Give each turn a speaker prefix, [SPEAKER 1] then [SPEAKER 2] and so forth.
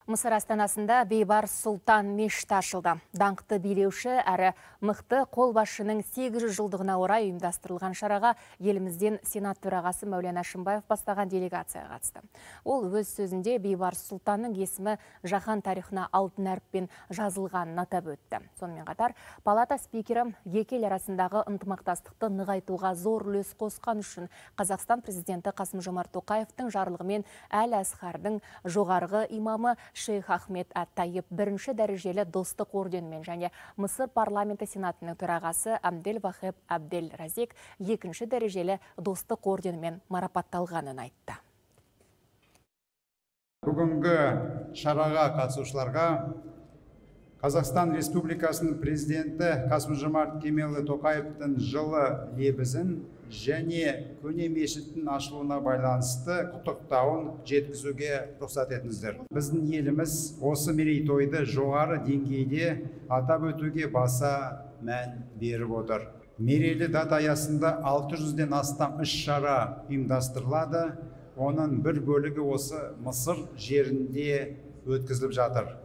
[SPEAKER 1] Мысыр астанасында Бейбарыс Сұлтан мешіті ашылды. Даңқты билеуші әрі мықты қолбасшының 800 жылдығына орай ұйымдастырылған шараға елімізден Сенат төрағасы Мәулен Әшімбаев бастаған делегация қатысты. Ол өз сөзінде Бейбарыс Сұлтанның есімі жаһан тарихына алтын әріппен жазылғанын атап өтті. Сонымен қатар, палата спикері екі ел арасындағы ынтымақтастықты нығайтуға зор үлес қосқан үшін Қазақстан президенті Қасым-Жомарт Тоқаевтың жарлығымен Әл-Асқардың жоғарғы имамы Шейх Ахмед ат-Тайып бірінші дәрежелі достық орденімен және Мысыр парламенті сенатының төрағасы Абдель Вахеб Абдель Разик екінші дәрежелі достық орденімен марапатталғанын айтты.
[SPEAKER 2] Бүгінгі шараға қатысушыларға Қазақстан Республикасының президенті Қасым-Жомарт Кемелұлы Тоқаевтың жылы лебізін және көне мешіттің ашылуына байланысты құттықтауын жеткізуге рұқсат етіңіздер. Біздің еліміз осы мерейтойды жоғары деңгейде атап өтуге баса мән беріп отыр. Мерейлі дата аясында 600-ден астам іс-шара ұйымдастырылады. Оның бір бөлігі осы Мысыр жерінде өткізіліп жатыр.